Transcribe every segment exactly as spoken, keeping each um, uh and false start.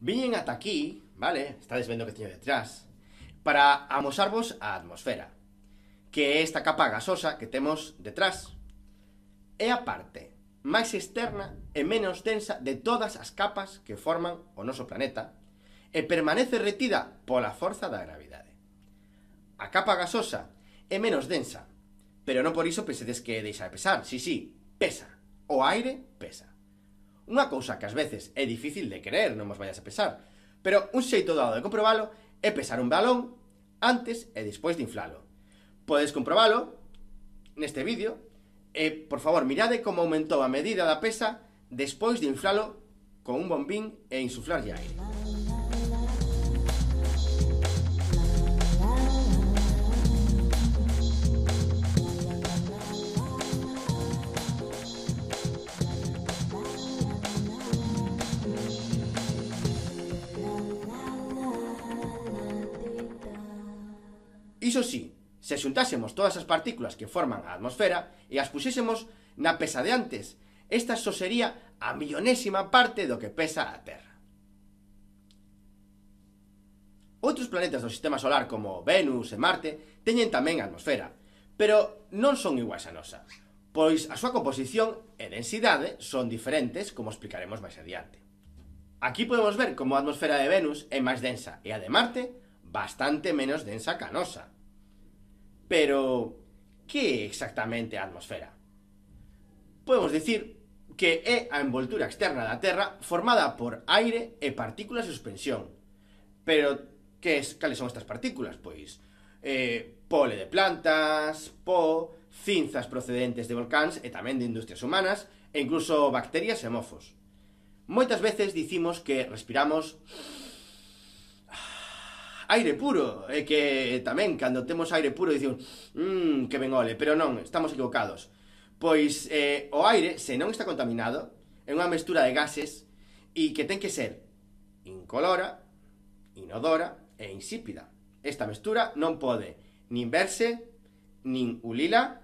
Viñen ata aquí, vale, estades vendo que teño detrás, para amosarvos a atmosfera, que é esta capa gasosa que temos detrás. É a parte máis externa e menos densa de todas as capas que forman o noso planeta e permanece retida pola forza da gravidade. A capa gasosa é menos densa, pero non por iso pensedes que deixa de pesar. Si, si, pesa. O aire pesa. Unha cousa que ás veces é difícil de creer, non vos vayas a pesar, pero un xeito dado de comprobalo é pesar un balón antes e despois de inflalo. Podes comprobalo neste vídeo e, por favor, mirade como aumentou a medida da pesa despois de inflalo con un bombín e insuflarlle aire. Iso sí, se xuntásemos todas as partículas que forman a atmosfera e as puxésemos na pesa de antes, esta só sería a millonésima parte do que pesa a Terra. Outros planetas do sistema solar como Venus e Marte teñen tamén atmosfera, pero non son iguais a nosa, pois a súa composición e densidade son diferentes, como explicaremos máis adiante. Aquí podemos ver como a atmosfera de Venus é máis densa e a de Marte bastante menos densa que a nosa. Pero, que é exactamente a atmosfera? Podemos dicir que é a envoltura externa da Terra formada por aire e partículas de suspensión. Pero, que es, cales son estas partículas? Pois, eh, pole de plantas, po, cinzas procedentes de volcáns e tamén de industrias humanas, e incluso bacterias e mofos. Moitas veces dicimos que respiramos aire puro, e que tamén, cando temos aire puro, dicimos mmm, que ben ole, pero non, estamos equivocados. Pois eh, o aire, se non está contaminado, é unha mestura de gases e que ten que ser incolora, inodora e insípida. Esta mestura non pode nin verse, nin ulila,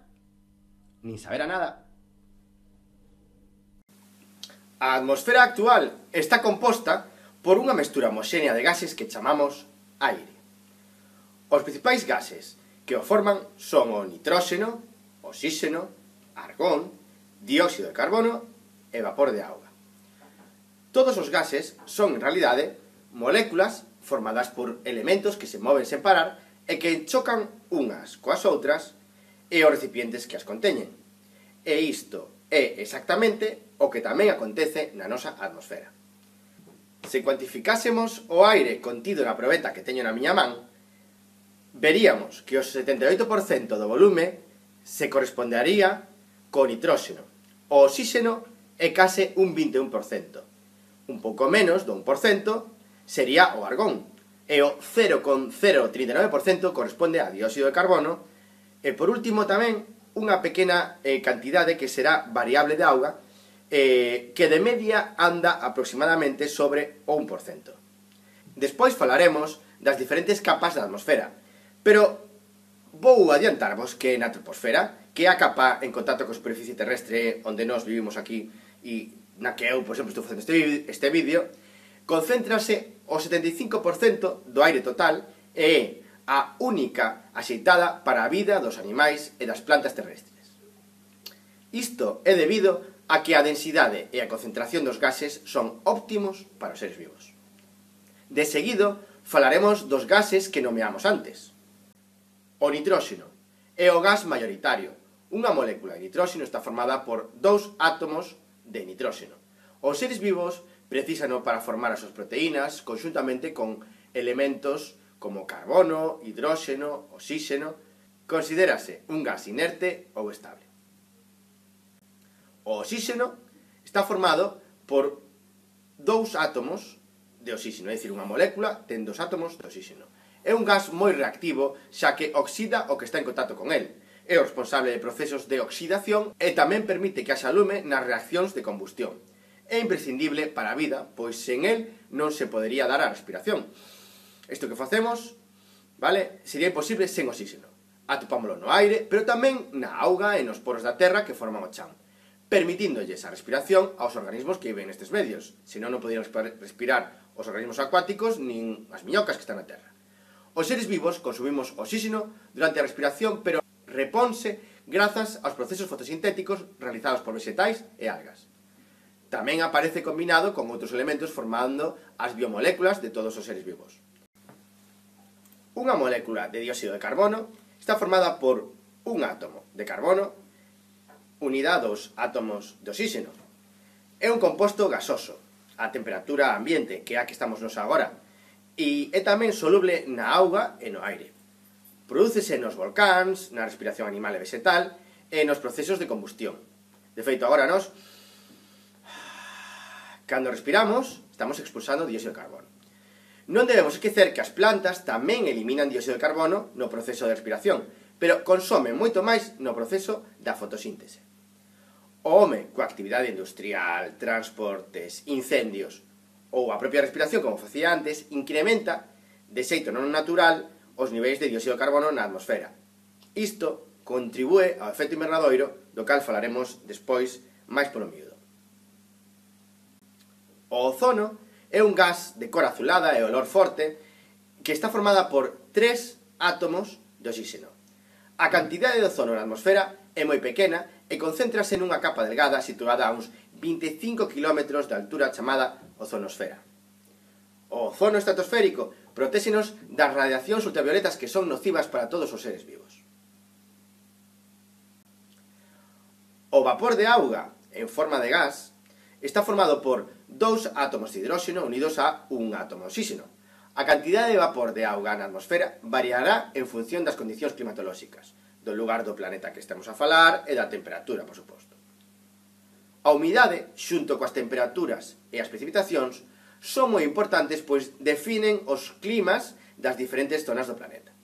nin saber a nada. A atmosfera actual está composta por unha mestura homoxénea de gases que chamamos aire. Os principais gases que o forman son o nitróxeno, oxíxeno, argón, dióxido de carbono e vapor de auga. Todos os gases son, en realidade, moléculas formadas por elementos que se moven sen parar e que chocan unhas coas outras e os recipientes que as conteñen. E isto é exactamente o que tamén acontece na nosa atmosfera. Se cuantificásemos o aire contido na probeta que teño na miña man, veríamos que o setenta e oito por cento do volume se correspondería co nitróxeno. O oxíxeno é case un vinte e un por cento. Un pouco menos do un por cento sería o argón. E o cero vírgula cero trinta e nove por cento corresponde a dióxido de carbono. E por último tamén unha pequena eh, cantidade que será variable de auga, Eh, que de media anda aproximadamente sobre o un por cento. Despois falaremos das diferentes capas da atmosfera, pero vou adiantarvos que na troposfera, que é a capa en contacto coa superficie terrestre onde nós vivimos aquí e na que eu, por exemplo, estou facendo este, este vídeo, concéntrase o setenta e cinco por cento do aire total e é a única axeitada para a vida dos animais e das plantas terrestres. Isto é debido a que a densidade e a concentración dos gases son óptimos para os seres vivos. De seguido, falaremos dos gases que nomeamos antes. O nitróxeno é o gas maioritario. Unha molécula de nitróxeno está formada por dous átomos de nitróxeno. Os seres vivos precisano para formar as súas proteínas conxuntamente con elementos como carbono, hidróxeno, oxíxeno. Considérase un gas inerte ou estable. O oxíxeno está formado por dous átomos de oxíxeno, é dicir, unha molécula ten dous átomos de oxíxeno. É un gas moi reactivo, xa que oxida o que está en contacto con el. É o responsable de procesos de oxidación e tamén permite que haxa lume nas reaccións de combustión. É imprescindible para a vida, pois sen el non se podería dar a respiración. Isto que facemos, vale, sería imposible sen oxíxeno. Atopámolo no aire, pero tamén na auga e nos poros da terra que forman o chan. permitindolles a respiración aos organismos que viven nestes medios. Senón non podían respirar os organismos acuáticos nin as miñocas que están na terra. Os seres vivos consumimos oxígeno durante a respiración, pero reponse grazas aos procesos fotosintéticos realizados por vegetais e algas. Tamén aparece combinado con outros elementos formando as biomoléculas de todos os seres vivos. Unha molécula de dióxido de carbono está formada por un átomo de carbono unida a dos átomos de oxígeno. É un composto gasoso, a temperatura ambiente, que é a que estamos nos agora, e é tamén soluble na auga e no aire. Prodúcese nos volcáns, na respiración animal e vegetal e nos procesos de combustión. De feito, agora nos, cando respiramos, estamos expulsando dióxido de carbono. Non debemos esquecer que as plantas tamén eliminan dióxido de carbono no proceso de respiración, pero consomen moito máis no proceso da fotosíntese. O home, coa actividade industrial, transportes, incendios ou a propia respiración, como facía antes, incrementa, de xeito non natural, os niveis de dióxido de carbono na atmosfera. Isto contribúe ao efecto invernadoiro, do cal falaremos despois máis polo miúdo. O ozono é un gas de cor azulada e olor forte que está formada por tres átomos de oxígeno. A cantidade de ozono na atmosfera é moi pequena e concéntrase nunha capa delgada situada a uns vinte e cinco quilómetros de altura chamada ozonosfera. O ozono estratosférico protéxenos das radiacións ultravioletas que son nocivas para todos os seres vivos. O vapor de auga en forma de gas está formado por dous átomos de hidróxeno unidos a un átomo de oxígeno. A cantidade de vapor de auga na atmosfera variará en función das condicións climatolóxicas, do lugar do planeta que estamos a falar e da temperatura, por suposto. A humidade, xunto coas temperaturas e as precipitacións, son moi importantes pois definen os climas das diferentes zonas do planeta.